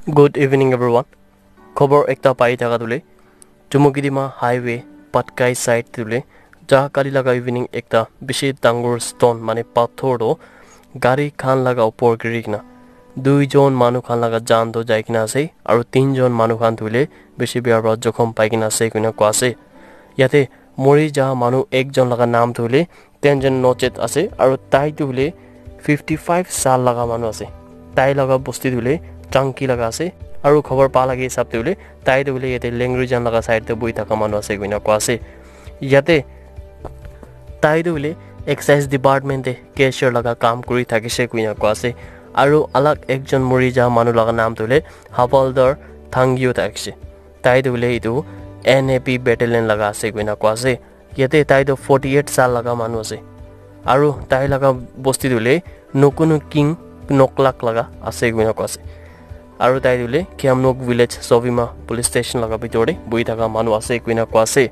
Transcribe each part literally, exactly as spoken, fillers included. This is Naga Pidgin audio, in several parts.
Good evening everyone. Khobor ekta pai thaka tu hoile Chumukidima highway Patkai side tu hoile ja kali laga evening ekta bishi dangor stone mane pathor tu gari khan laga upor giri kena dui jon manu khan laga jan tu jai kena ase aru tin jon manu khan tu hoile bishi bia para jokhom pai kena ase koina koa ase. Yate mori ja manu ekjon laga naam tu hoile Tenjen Nochet ase aru tai tu hoile fifty five saal laga manu ase. Tai laga bosti tu hoile Changki laga ase aru khobor pa laga hisab tu hoile tai tu hoile yate Lengri jan laga side te bohi thaka manu ase koina koa ase. Yate tai tu hoile excise department te cashier laga kam kuri thakise koina koa ase. Aru alag ekjon mori ja manu laga naam tu hoile Havaldar Thangyo thakise. Tai tu hoile etu N A P battalion laga ase koina koa ase. Yate tai tu forty eight saal laga manu ase. Aru tai laga bosti tu hoile Nokunu King Noklak laga ase koina koa ase. Aru tai tu hoile Khiamnok village Sovima police station laga bitor te bohi thaka manu ase koina koa ase.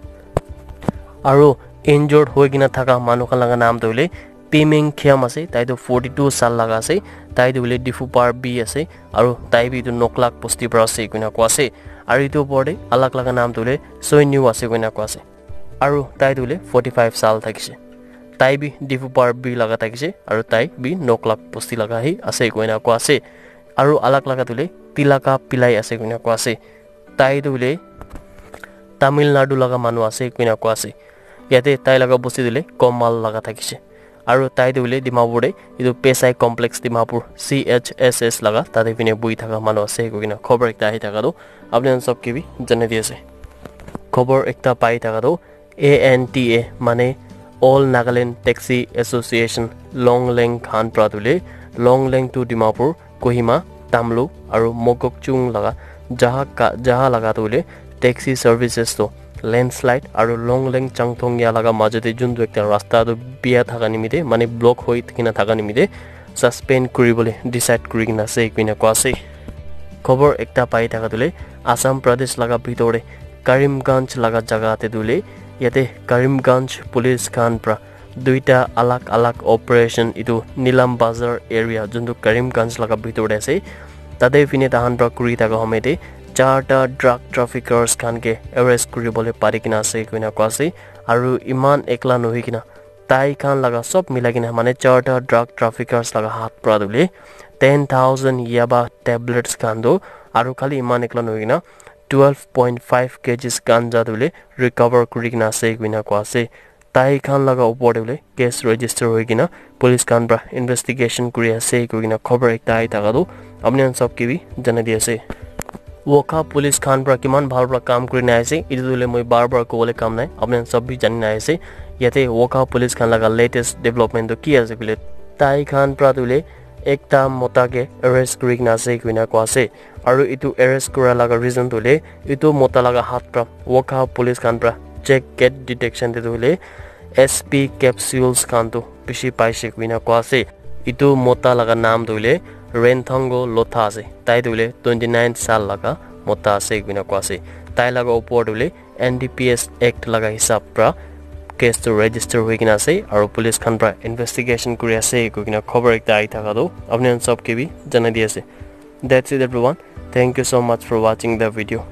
Aru injured hoi kena thaka manu khan laga naam tu hoile Pimeng Khiam ase, tai tu forty two saal laga ase, tai tu hoile Difupar B ase, aru tai bi etu Noklak bosti para ase koina koa ase. Aru etu upor te alag laga naam tu hoile Soinyu ase koina koa ase. Aru tai tu hoile forty five saal thakise. Tai bi Difupar B laga thakise, aru tai bi Noklak bosti laga hi ase koina koa ase. Aru alag laga tu hoile Tilaka Pillai ase koina koa ase. Tai tu hoile Tamil Nadu laga manu ase koina koa ase. Yate tai laga bosti tu hoile Komal laga thakise. Aru tai tu hoile Dimapur te etu P S I complex Dimapur C H S S laga tate phine bohi thaka manu ase koina khobor ekta ahi thaka tu apni khan sob ke bi janai di ase. Khobor ekta pai thaka tu A N T A mane All Nagaland Taxi Association Longleng khan pra tu hoile Longleng to Dimapur, Kohima, Tamlu aru Mokokchung laga jaha ka jaha laga tu hoile taxi services tu landslide aru Longleng Changthong ya laga majo te juntu ekta rasta tu bia thaka nimite mane block hoi kena thaka nimite suspend kuribole decide kuri kena ase koina koa ase. Khobor ekta pai thaka tu hoile Assam Pradesh laga bitor te Karimganj laga jaga te tu hoile yate Karimganj police khan pra duita alag alag operation etu Nilam Bazar area juntu Karimganj laga bitor te ase tate phine tahan pra kuri thaka home te charta drug traffickers khan ke arrest kuribole pari kena ase koina koa ase aru eman ekla nohoi kena tai khan laga sob milai kena mane charta drug traffickers laga hath pra tu hoile ten thousand yaba tablets khan tu aru khali eman ekla nohoi kena twelve point five kgs ganja tu hoile recover kuri kena ase koina koa ase. Tai khan laga upor te hoile case register hoi kena police khan pra investigation kuri ase koi kena khobor ekta ahi thaka tu apni khan sob ke bi janai di ase. Wokha police khan pra kiman bhal pra kam kuri na ase etu tu hoile moi bar bar kobole kam nai, apni khan sob bi jani na ase. Yate Wokha police khan laga latest development tu ki ase koile tai khan pra tu hoile ekta mota ke arrest kuri kena ase koina koa ase. Aru etu arrest kura laga reason tu hoile etu mota laga hath pra Wokha police khan pra check gate detection te tu hoile S P capsules khan tu bishi paise koina koa ase. Etu mota laga naam tu hoile Renthango Lotha ase. Tai tu hoile twenty nine saal laga mota ase koina koa ase. Tai laga upor tu hoile N D P S Act laga hisab pra case tu register hoi kena ase aru police khan pra investigation kuri ase koi kena khobor ekta ahi thaka tu apni khan sob ke bi janai di ase. That's it everyone. Thank you so much for watching the video.